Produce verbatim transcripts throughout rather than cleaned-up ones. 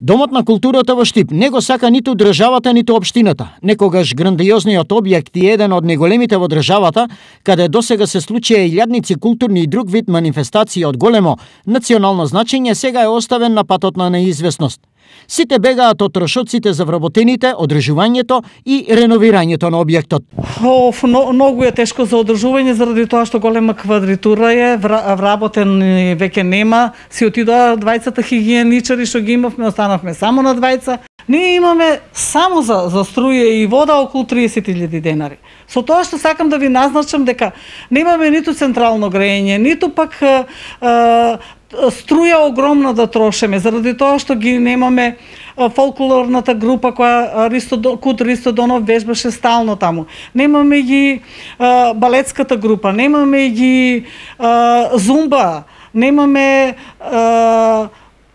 Домот на културата во Штип не го сака ниту државата, ниту општината. Некогаш грандиозниот објект е еден од најголемите во државата, каде досега се случија илјадници културни и друг вид манифестации од големо национално значење, сега е оставен на патот на неизвестност. Сите бегаат од трошоците за вработените, одржувањето и реновирањето на објектот. Оф, многу е тешко за одржување заради тоа што голема квадритура е, вработен веќе нема, си отидоа двајцата хигиеничари што ги имавме, останавме само на двајца. Ние имаме само за, за струја и вода околу триесет илјади денари. Со тоа што сакам да ви назначам дека немаме ниту централно грејење, ниту пак а, а, струја огромна да трошеме, заради тоа што ги немаме фолклорната група која Ристо, Кут Ристо Донов вежбаше стално таму. Немаме ги а, балетската група, немаме ги а, зумба, немаме а,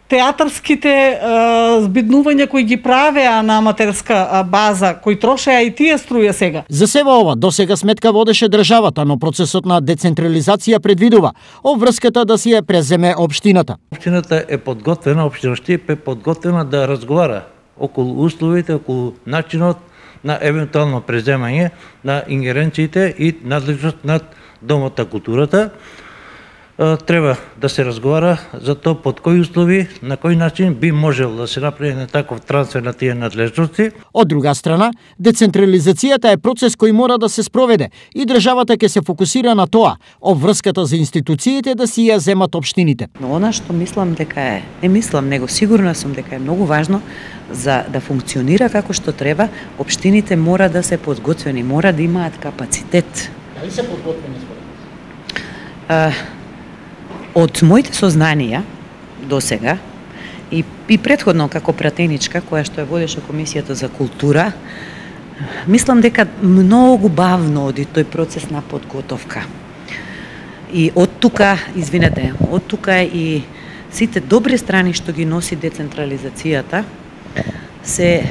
театарските а, збиднувања кои ги правеа на аматерска база, кои трошеа и тие струја сега. За сева ова, досега сметка водеше државата, но процесот на децентрализација предвидува обврската да си ја преземе општината. Општината е подготвена, општина Штип е подготвена да разговара околу условите, околу начинот на евентуално преземање на ингеренциите и надлежност над Домот на културата. Треба да се разговара за тоа под кои услови, на кој начин би можел да се направи на таков трансфер на тие надлежности. Од друга страна, децентрализацијата е процес кој мора да се спроведе и државата ќе се фокусира на тоа, обврската за институциите да си ја земат општините. Но она што мислам дека е, не мислам, него сигурна сум дека е многу важно за да функционира како што треба, општините мора да се подготвени, мора да имаат капацитет. Дали се подготвени според? Од моите сознанија до сега и, и предходно како пратеничка која што ја водеше Комисијата за култура, мислам дека многу бавно оди тој процес на подготовка. И од тука, извинете, од тука и сите добри страни што ги носи децентрализацијата се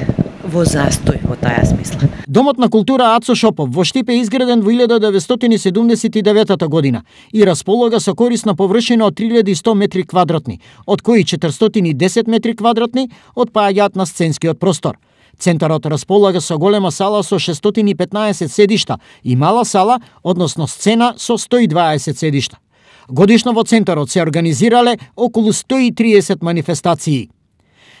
во застој во таа смисла. Домот на култура Ацо Шопов во Штип е изграден во илјада деветстотини седумдесет и девета година и располага со корисна површина од три илјади и сто метри квадратни, од кои четиристотини и десет метри квадратни отпаѓаат на сценскиот простор. Центарот располага со голема сала со шестстотини и петнаесет седишта и мала сала, односно сцена со сто и дваесет седишта. Годишно во центарот се организирале околу сто и триесет манифестации.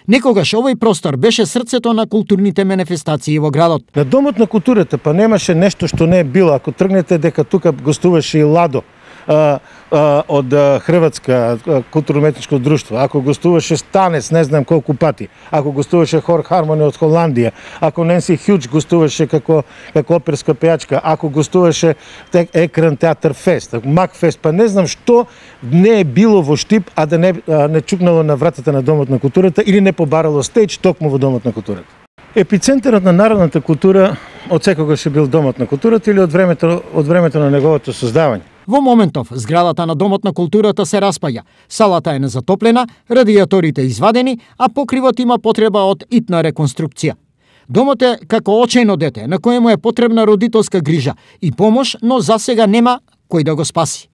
Некогаш овој простор беше срцето на културните манифестации во градот. На Домот на културата па немаше нешто што не е било. Ако тргнете дека тука гостуваше и Ладо а, а, од Хрватска културно-уметничко друштво, ако гостуваше Станец не знам колку пати, ако гостуваше Хор Хармони од Холандија, ако Ненси Хјудж гостуваше како како оперска пејачка, ако гостуваше тек, Екран театар фест, Мак фест, па не знам што не е било во Штип, а да не а, не чукнало на вратата на Домот на културата или не побарало стејдж токму во Домот на културата. Епицентарот на народната култура од секогаш е бил Домот на културата или од времето од времето на неговото создавање. Во моментов, зградата на Домот на културата се распаѓа. Салата е незатоплена, радиаторите извадени, а покривот има потреба од итна реконструкција. Домот е како очајно дете, на кој му е потребна родителска грижа и помош, но засега нема кој да го спаси.